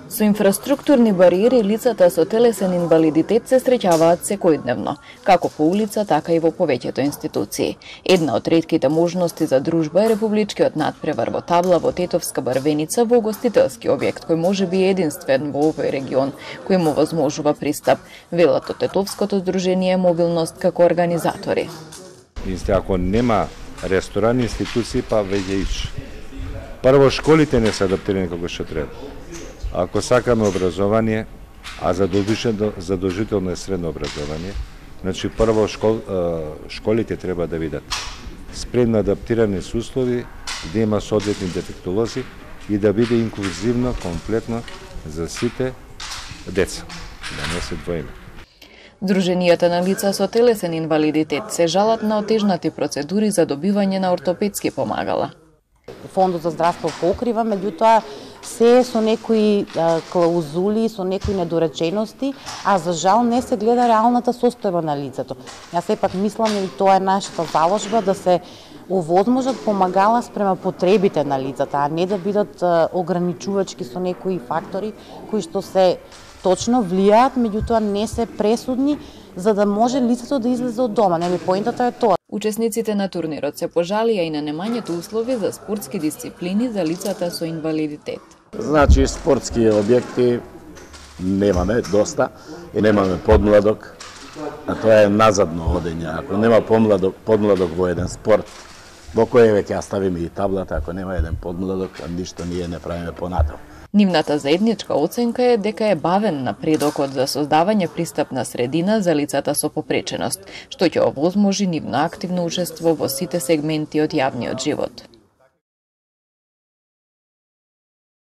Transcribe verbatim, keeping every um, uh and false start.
Со инфраструктурни бариери лицата со телесен инвалидитет се среќаваат секојдневно, како по улица, така и во повеќето институции. Една од ретките можности за дружба е републичкиот надпревар во табла во Тетовска Барвеница во гостителски објект кој може би е единствен во овој регион, кој му возможува пристап, велат од Тетовското здружение Мобилност како организатори. Ако нема ресторани, институции, па веќе ич. Прво, школите не се адаптирани како што треба. Ако сакаме образование, а задолжително, задолжително е средно образование, значи прво школ, школите треба да видат спремно адаптирани со услови, да има соодветни дефектолози и да биде инклузивно, комплетно за сите деца, да не се двоиме. Друженијата на лица со телесен инвалидитет се жалат на отежнати процедури за добивање на ортопедски помагала. Фондот за здравство покрива, меѓутоа се со некои клаузули, со некои недоречености, а за жал не се гледа реалната состојба на лицето. Јас сепак мислам и тоа е нашата заложба да се овозможат помагала спрема потребите на лицата, а не да бидат ограничувачки со некои фактори кои што се точно влијаат, меѓутоа не се пресудни за да може лицето да излезе од дома. Нели поентата е тоа. Учесниците на турнирот се пожалија и на немањето услови за спортски дисциплини за лицата со инвалидитет. Значи, спортски објекти немаме доста и немаме подмладок, а тоа е назадно одење. Ако нема подмладок, подмладок во еден спорт, во кој веќе ја ставиме и таблата, ако нема еден подмладок, ништо ние не правиме понатаму. Нивната заедничка оценка е дека е бавен напредокот за создавање пристапна средина за лицата со попреченост, што ќе овозможи нивно активно учество во сите сегменти од јавниот живот.